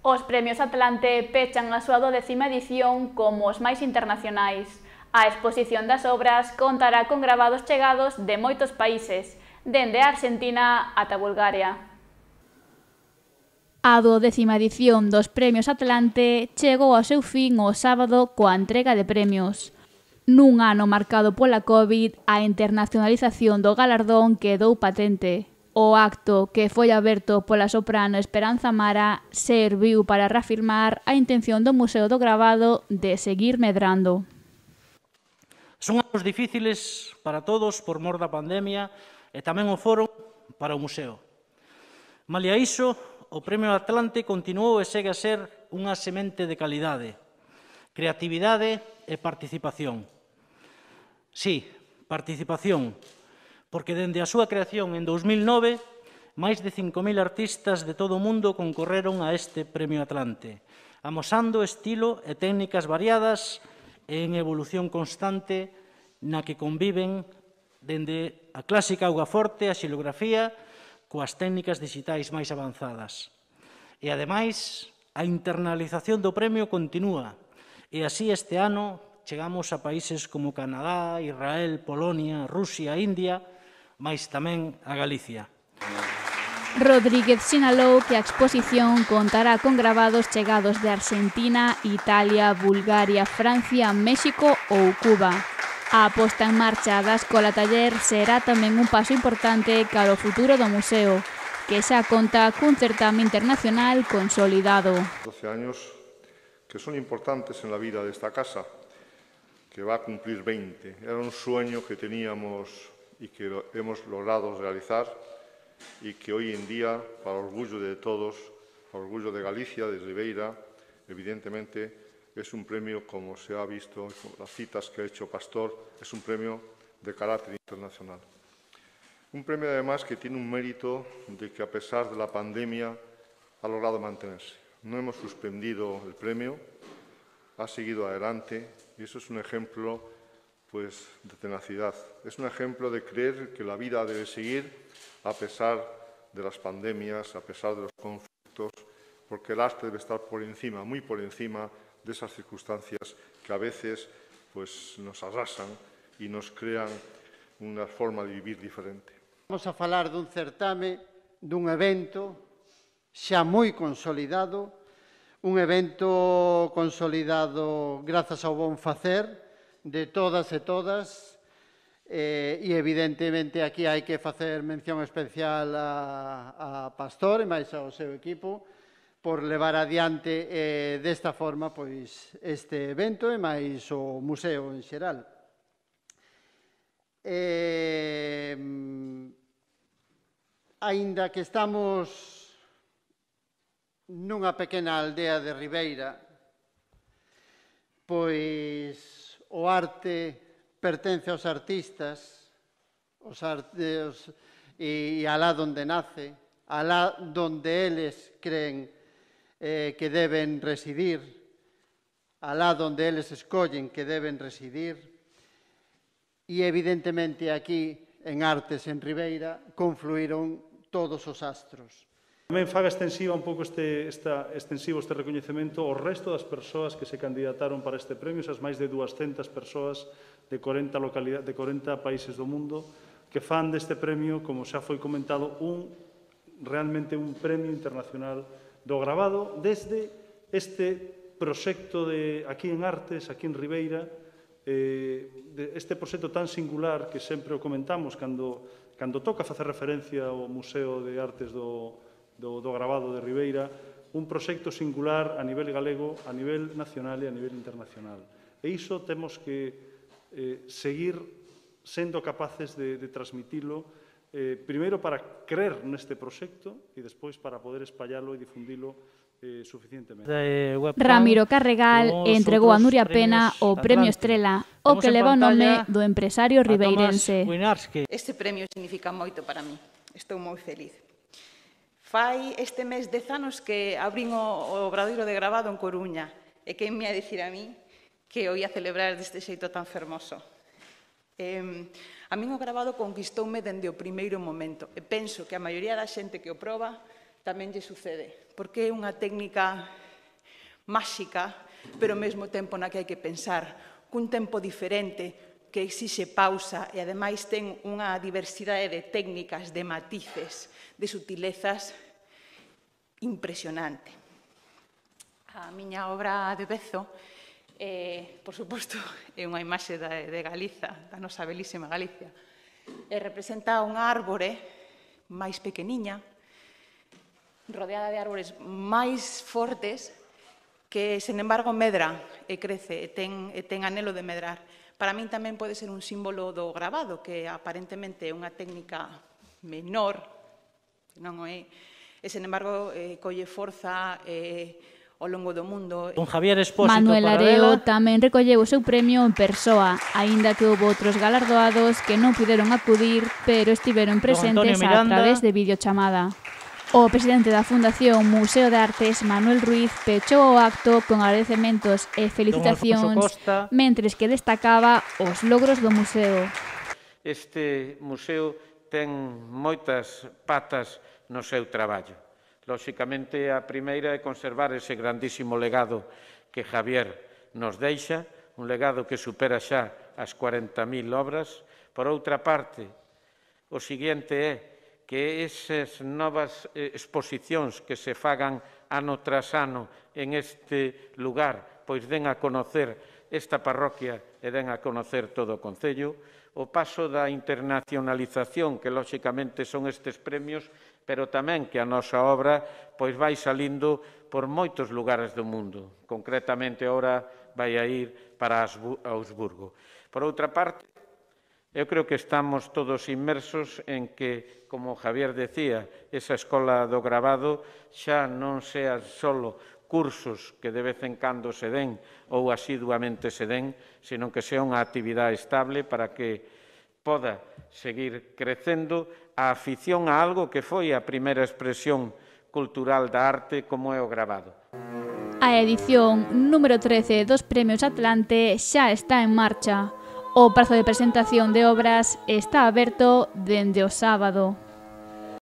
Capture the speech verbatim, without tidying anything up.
Os Premios Atlante pechan a súa décima edición como os máis internacionais. A exposición das obras contará con gravados chegados de moitos países, dende a Argentina ata Bulgaria. A duodécima edición dos Premios Atlante chegou ao seu fin o sábado coa entrega de premios. Nun ano marcado pola COVID, a internacionalización do galardón quedou patente. O acto, que foi aberto pola soprano Esperanza Mara, serviu para reafirmar a intención do Museo do Gravado de seguir medrando. Son anos difíciles para todos por mor da pandemia e tamén o foron para o museo. Malia iso, o Premio Atlante continuou e segue a ser unha semente de calidade, creatividade e participación. Sí, participación, porque dende a súa creación en dous mil nove, máis de cinco mil artistas de todo o mundo concorreron a este Premio Atlante, amosando estilo e técnicas variadas e en evolución constante na que conviven dende a clásica augaforte, a xilografía, coas técnicas digitais máis avanzadas. E, ademais, a internalización do premio continúa, e así este ano chegamos a países como Canadá, Israel, Polonia, Rusia, India, mais tamén a Galicia. Rodríguez sinalou que a exposición contará con gravados chegados de Argentina, Italia, Bulgaria, Francia, México ou Cuba. A posta en marcha da Escola Taller será tamén un paso importante cara ao futuro do museo, que xa conta cun certame internacional consolidado. doce años que son importantes en la vida de esta casa, que va a cumplir veinte. Era un sueño que teníamos y que lo hemos logrado realizar y que hoy en día, para orgullo de todos, para orgullo de Galicia, de Ribeira, evidentemente es un premio, como se ha visto con las citas que ha hecho Pastor, es un premio de carácter internacional. Un premio además que tiene un mérito de que a pesar de la pandemia ha logrado mantenerse. No hemos suspendido el premio, ha seguido adelante y eso es un ejemplo pues, de tenacidad. Es un ejemplo de creer que la vida debe seguir a pesar de las pandemias, a pesar de los conflictos, porque el arte debe estar por encima, muy por encima de esas circunstancias que a veces pues, nos arrasan y nos crean una forma de vivir diferente. Vamos a falar dun certame, dun evento xa moi consolidado, un evento consolidado grazas ao bon facer de todas e todas, eh, e evidentemente aquí hai que facer mención especial a, a Pastor e máis ao seu equipo por levar adiante eh, desta forma pois, este evento e máis o museo en xeral. Eh, aínda que estamos nunha pequena aldea de Ribeira, pois o arte pertence aos artistas, os artes, e alá donde nace, alá donde eles creen eh, que deben residir, alá donde eles escollen que deben residir, e evidentemente aquí, en Artes en Ribeira, confluíron todos os astros. Tamén faga extensiva un pouco este, esta, extensivo este recoñecemento ao resto das persoas que se candidataron para este premio, esas máis de duascentas persoas de corenta, localidades, de corenta países do mundo, que fan deste premio, como xa foi comentado, un, realmente un premio internacional do gravado desde este proxecto de aquí en Artes, aquí en Ribeira, eh, de este proxecto tan singular que sempre o comentamos cando, cando toca facer referencia ao Museo de Artes do, do, do Gravado de Ribeira, un proxecto singular a nivel galego, a nivel nacional e a nivel internacional. E iso temos que eh, seguir sendo capaces de, de transmitilo, eh, primeiro para creer neste proxecto e despois para poder espallalo e difundilo eh, suficientemente. Ramiro Carregal entregou a Nuria Pena o Premio Estrela, o que leva o nome do empresario ribeirense. Este premio significa moito para mí. Estou moi feliz. Fai este mes dez anos que abrín o Obradoiro de Gravado en Coruña e quen me a dicir a mí que o ia celebrar deste xeito tan fermoso. Eh, a min o gravado conquistoume dende o primeiro momento e penso que a maioría da xente que o proba tamén lle sucede, porque é unha técnica máxica, pero ao mesmo tempo na que hai que pensar, cun tempo diferente, que exixe pausa e, ademais, ten unha diversidade de técnicas, de matices, de sutilezas impresionante. A miña obra de Bezo, eh, por suposto, é unha imaxe de, de Galiza, da nosa belísima Galicia, e representa unha árbore máis pequeniña, rodeada de árbores máis fortes, que, sen embargo, medra e crece e ten, e ten anelo de medrar. Para min tamén pode ser un símbolo do grabado, que aparentemente é unha técnica menor, non é, e, sen embargo, eh, colle forza eh, ao longo do mundo. Don Javier Expósito Manuel Paradela Areo tamén recolleu o seu premio en persoa, aínda que houve outros galardoados que non puderon acudir, pero estiveron presentes a través de videochamada. O presidente da Fundación Museo de Artes, Manuel Ruiz, pechou o acto con agradecementos e felicitacións, mentres que destacaba os logros do museo. Este museo ten moitas patas no seu traballo. Lóxicamente, a primeira é conservar ese grandísimo legado que Javier nos deixa, un legado que supera xa as cuarenta mil obras. Por outra parte, o seguinte é que esas novas exposicións que se fagan ano tras ano en este lugar, pois den a conocer esta parroquia e den a conocer todo o Concello. O paso da internacionalización, que lóxicamente son estes premios, pero tamén que a nosa obra pois vai salindo por moitos lugares do mundo. Concretamente, ora vai a ir para Augsburgo. Por outra parte, eu creo que estamos todos inmersos en que, como Javier decía, esa escola do grabado xa non sean só cursos que de vez en cando se den ou asiduamente se den, sino que sea unha actividade estable para que poda seguir crecendo a afición a algo que foi a primeira expresión cultural da arte como é o grabado. A edición número trece dos Premios Atlante xa está en marcha. O prazo de presentación de obras está aberto dende o sábado.